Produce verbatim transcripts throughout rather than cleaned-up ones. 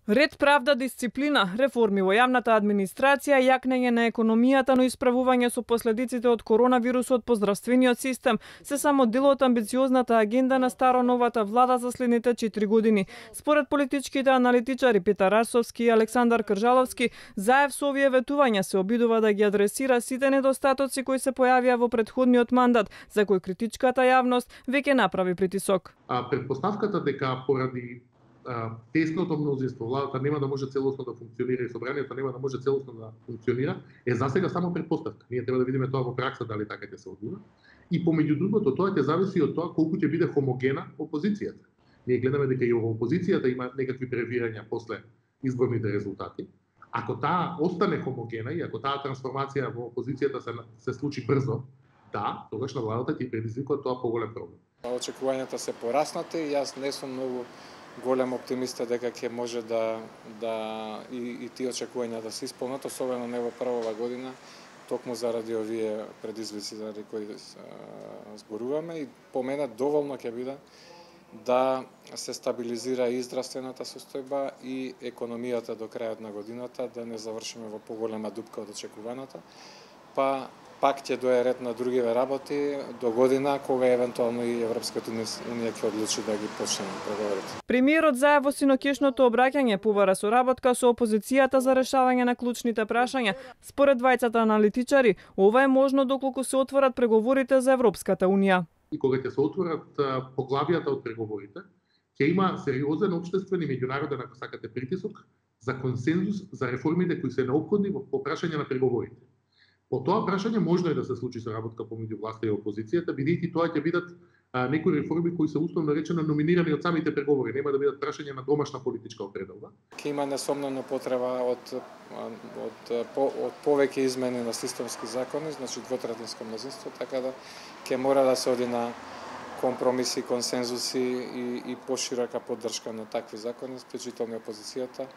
Ред, правда, дисциплина, реформи во јавната администрација, јакнење на економијата, но исправување со последиците од коронавирусот по здравствениот систем се само дел од амбициозната агенда на старо-новата влада за следните четири години. Според политичките аналитичари Петар Арсовски и Александар Кржаловски, заев со овие ветувања се обидува да ги адресира сите недостатоци кои се појавија во претходниот мандат, за кој критичката јавност веќе направи притисок. А претпоставката дека поради тесното мнозинство, владата нема да може целосно да функционира и собранието нема да може целосно да функционира, е засега само претпоставка. Ние треба да видиме тоа во пракса дали така ќе се одвива. И помеѓу другото, тоа ќе зависи од тоа колку ќе биде хомогена опозицијата. Ние гледаме дека и во опозицијата има некакви превирања после изборните резултати. Ако таа остане хомогена и ако таа трансформација во опозицијата се, се случи брзо, да, тогаш на владата ќе предизвикува тоа поголем проблем. Очекувањата се пораснати и јас не сум многу голем оптимиста дека ќе може да да и, и тие очекувања да се исполнат, особено не во првава година, токму заради овие предизвици заради кои зборуваме. И по мене доволно ќе биде да се стабилизира и здравствената состојба и економијата до крајот на годината, да не завршиме во поголема дупка од очекуваната, па пак ќе дое ред на другиве работи до година, кога евентуално и Европската унија ќе одлучи да ги почне преговорите. Премиерот зае во синокишното обраќање побара соработка со опозицијата за решавање на клучните прашања. Според двајцата аналитичари, ова е можно доколку се отворат преговорите за Европската унија. И кога ќе се отворат поглавијата од преговорите, ќе има сериозен општествен и меѓународен, ако сакате, притисок за консензус за реформите кои се неопходни по прашање на преговорите. По тоа прашање можно е да се случи соработка помеѓу власта и опозицијата, бидејќи тоа ќе бидат а, некои реформи кои се условно речено номинирани од самите преговори, нема да бидат прашање на домашна политичка определба. Ќе има несомнено потреба од од, по, од повеќе измени на системски закони, значи двотретинско мнозинство, така да ќе мора да се оди на компромиси, консензуси и, и поширока поддршка на такви закони, вклучително опозицијата.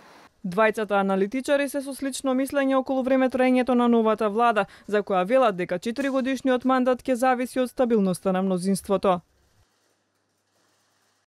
Двајцата аналитичари се со слично мислење околу време траењето на новата влада, за која велат дека четиригодишниот мандат ќе зависи од стабилноста на мнозинството.